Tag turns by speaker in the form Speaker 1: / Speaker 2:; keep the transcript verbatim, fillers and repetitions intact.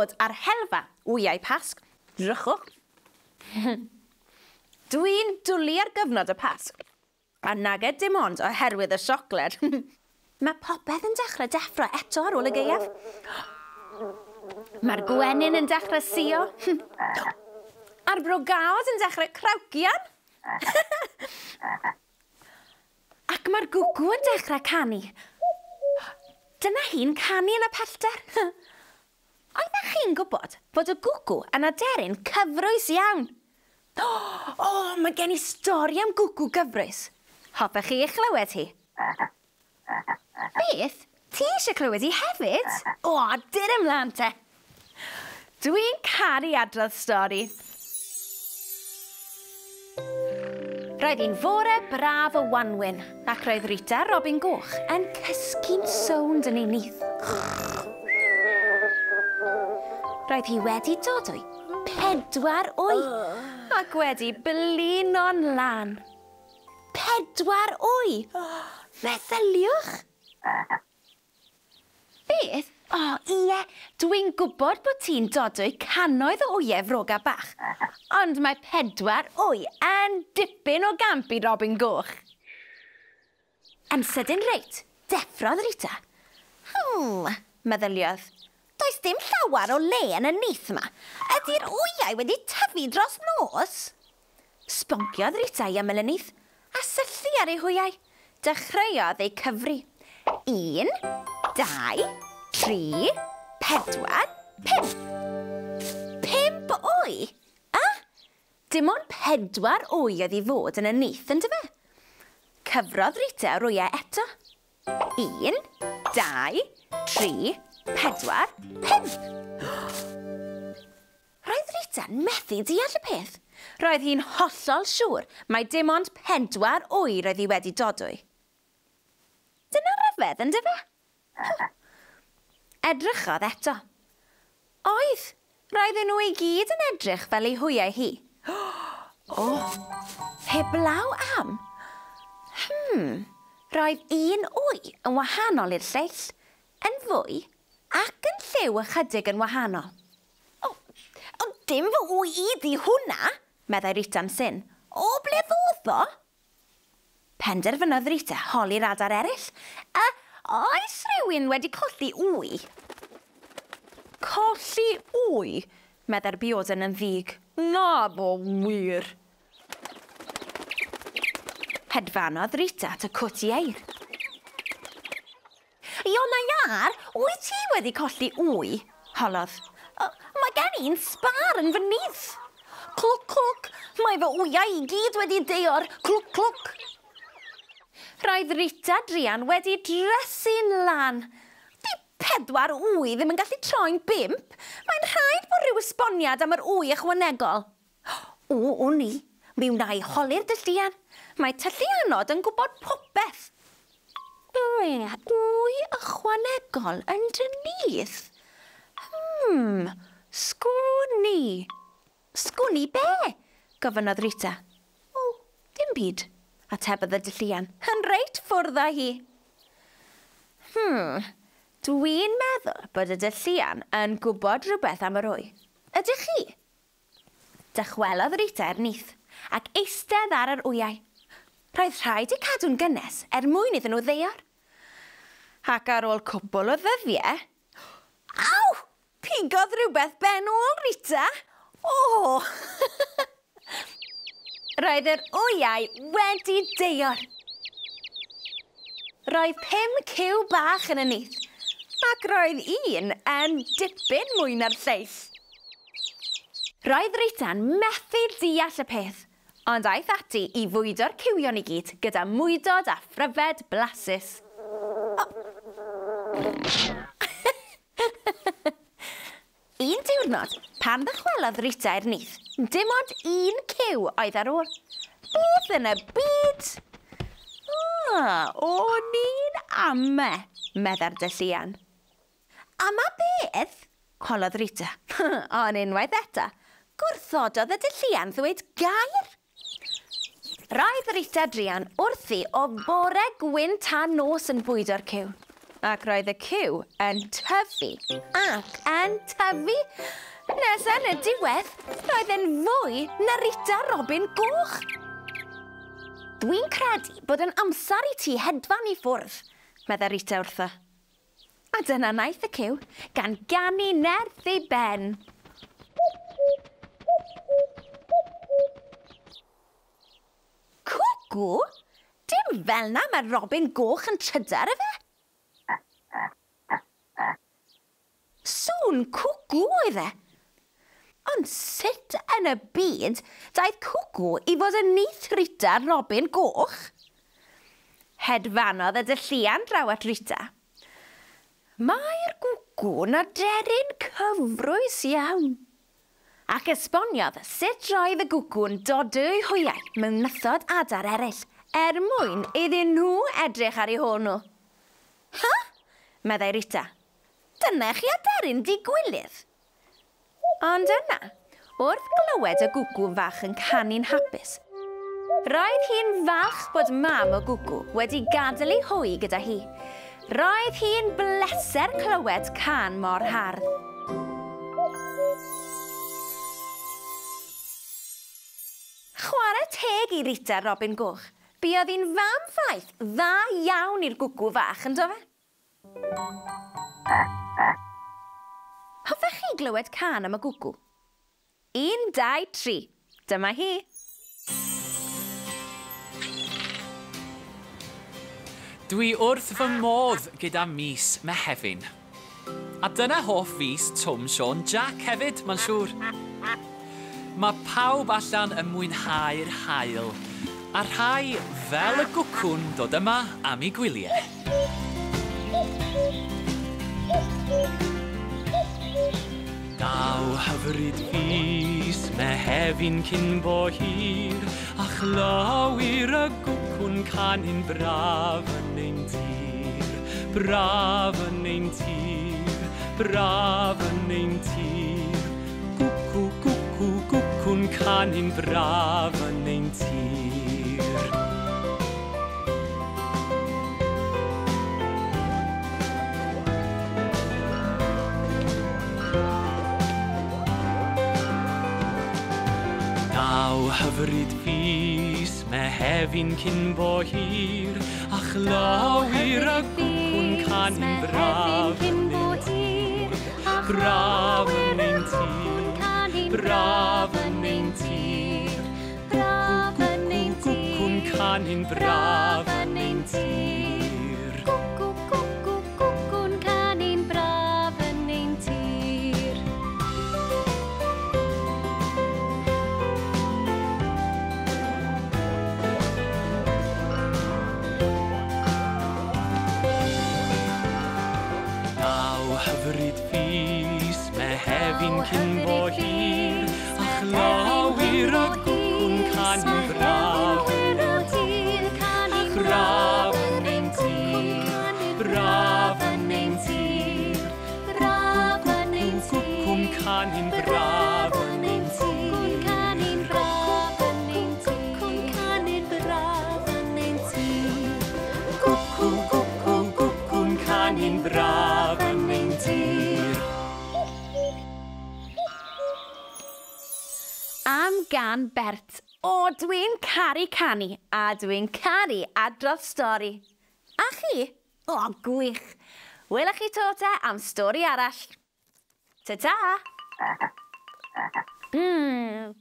Speaker 1: dod ar helfa wyau Pasg. Drychwch. Dwi'n dwlu ar gyfnod y Pasg, a nage dim ond oherwydd y siocled. Mae popeth yn dechrau deffro eto ar ôl y gaeaf. Mae'r gwenyn yn dechrau sïo. A'r brogaod yn dechrau crawcian. Ac mae'r gwcw yn dechrau canu. Dyna hi'n canu yn y pellter. Oeddech chi'n gwybod bod y gwcw yn aderyn cyfrwys iawn? O, oh, mae gen i stori am gwcw gyfrwys. Hoffech chi ei chlywed hi? Beth? Ti eisiau clywed hi hefyd? O, dyr ymlaen te. Dwi'n caru adrodd stori. Roedd hi'n fore braf o wanwyn, ac roedd Rita Robin Goch yn cysgu'n sownd yn ei nyth. Roedd hi wedi dodwy pedwar wy, ac wedi blino'n lân. Pedwar wy! Meddyliwch! Beth? O, ie, dwi'n gwybod bod ti'n dodwy cannoedd o wyau froga bach, ond mae pedwar wy yn dipyn o gamp i Robin Goch. Yn sydyn reit, deffrodd Rita. Hmm, meddyliodd. Does dim llawer o le yn y nyth yma. Ydy'r wyau wedi tyfu dros nos? Sbonciodd Rita i ymyl y nyth a syllu ar ei hwyau. Dechreuodd ei cyfri. Un, dau, tri, pedwar, pump. Pump wy? A? Dim ond pedwar wy oedd i fod yn y nyth, yndyfe? Cyfrodd Rita yr wyau eto. Un, dau, tri, pedwar, pump. Roedd Rita'n methu deall y peth. Roedd hi'n hollol siŵr mai dim ond pedwar wy roedd hi wedi dodwy. Dyna ryfedd, yndyfe? Edrychodd eto. Oedd, roedden nhw i gyd yn edrych fel ei hwyau hi. O, heblaw am. Hmm, roedd un wy yn wahanol i'r lleill, yn fwy ac yn lliw ychydig yn wahanol. O, o dim fy wy i di hwnna, meddai Rita'n syn. O, ble ddodd o? Penderfynodd Rita holi'r adar eraill. A oes rhywun wedi colli wy? Colli wy? Meddai'r bioden yn ddig. Na bo wir. Hedfanodd Rita at y cwt ieir. Iona Iâr, wyt ti wedi colli wy? Holodd. Mae gen i'n sbâr yn fy nyth. Clwc, clwc, mae fy wyau i gyd wedi deor. Clwc, clwc. Roedd Rita druan wedi drysu'n lan. Di pedwar wy ddim yn gallu troi'n bump. Mae'n rhaid bod rhyw esboniad am yr wy ychwanegol. O, o'n i. Mi wna i holi'r dylluan. Mae tylluanod yn gwybod popeth. Wy ychwanegol yn dy nyth? Hmm, sgwn i. Sgwn i be? Gofynnodd Rita. O, dim byd, atebodd y dylluan. Yn reit ffwrdd â hi. Hmm, dwi'n meddwl bod y dylluan yn gwybod rhywbeth am yr wy. Ydych chi? Dychwelodd Rita i'r nyth ac eistedd ar yr wyau. Roedd rhaid eu cadw'n gynnes er mwyn iddyn nhw ddeor. Ac ar ôl cwpl o ddyddiau... Aw! Pigodd rhywbeth ben ôl Rita! O! Roedd yr wyau wedi deor. Roedd pum cyw bach yn y nyth, ac roedd un yn dipyn mwy na'r lleill. Roedd Rita'n methu deall y peth, ond aeth ati i fwydo'r cywion i gyd gyda mwydod a phryfed blasus. Oh. Un diwrnod, pan ddychwelodd Rita i'r nyth, dim ond un cyw oedd ar ôl. Beth yn y byd? Ah, o'n i'n ame, meddai'r dylluan. Ama beth? Holodd Rita. Ond unwaith eto, gwrthododd y dylluan ddweud gair. Roedd Rita druan wrthi o bore gwyn tan nos yn bwydo'r cyw. Ac roedd y cyw yn tyfu ac yn tyfu. Nes yn y diwedd, roedd yn fwy na Rita Robin Goch. Dwi'n credu bod yn amser i ti hedfan i ffwrdd, meddai Rita wrtho. A dyna naeth y cyw, gan ganu nerth ei ben. Cwcw? Dim fel na mae Robin Goch yn trydar efe? Sŵn cwcw oedd e. Ond sut yn y byd daeth cwcw i fod yn nyth Rita Robin Goch? Hedfanodd y dylluan draw at Rita. Mae'r gwcw'n aderyn cyfrwys iawn. Ac esboniodd sut roedd y gwcw'n dodwy hwyau mewn nythod adar eraill er mwyn iddyn nhw edrych ar eu hôl nhw. Ha? Meddai Rita. Dyna chi aderyn digwilydd. Ond yna, wrth glywed y gwcw fach yn canu'n hapus, roedd hi'n falch bod mam y gwcw wedi gadael ei hwy gyda hi. Roedd hi'n bleser clywed cân mor hardd. Chwarae teg i Rita Robin Goch. Buodd hi'n fam faith dda iawn i'r gwcw fach, yn do fe? Hoffech chi glywed cân am y gwcw? Un, dau, tri. Dyma hi.
Speaker 2: Dwi wrth fy modd gyda mis Mehefin. A dyna hoff fis Twm Siôn Jac hefyd, mae'n siŵr. Mae pawb allan yn mwynhau'r haul, a rhai fel y gwcw'n dod yma am eu gwyliau. Daw hyfryd fis Mehefin cyn bo hir, a chlywir y gwcw'n canu'n braf yn ein tir, braf yn ein tir, braf yn ein tir. Gwcw, gwcw, gwcw'n canu'n braf yn ein tir. Daw hyfryd fis Mehefin cyn bo hir, a chlywir y gwcw'n canu'n braf yn ein tir, braf yn ein tir, braf yn ein tir. Gwcw, gwcw'n canu'n braf yn ein tir.
Speaker 3: Gwcw, gwcw, gwcw'n canu'n braf yn ein tir.
Speaker 2: Daw hyfryd fis Mehefin cyn bo hir, a chlywir y gwcw'n canu'n braf yn ein tir, braf yn ein tir, braf yn ein tir. Gwcw'n canu'n braf yn ein tir. Gwcw, gwcw, gwcw'n canu'n braf yn ein tir.
Speaker 1: Am gan Bert. O, dwi'n caru canu, a dwi'n caru adrodd stori. A chi? O, gwych. Welwch chi to te am stori arall. Ta-ta! Mm.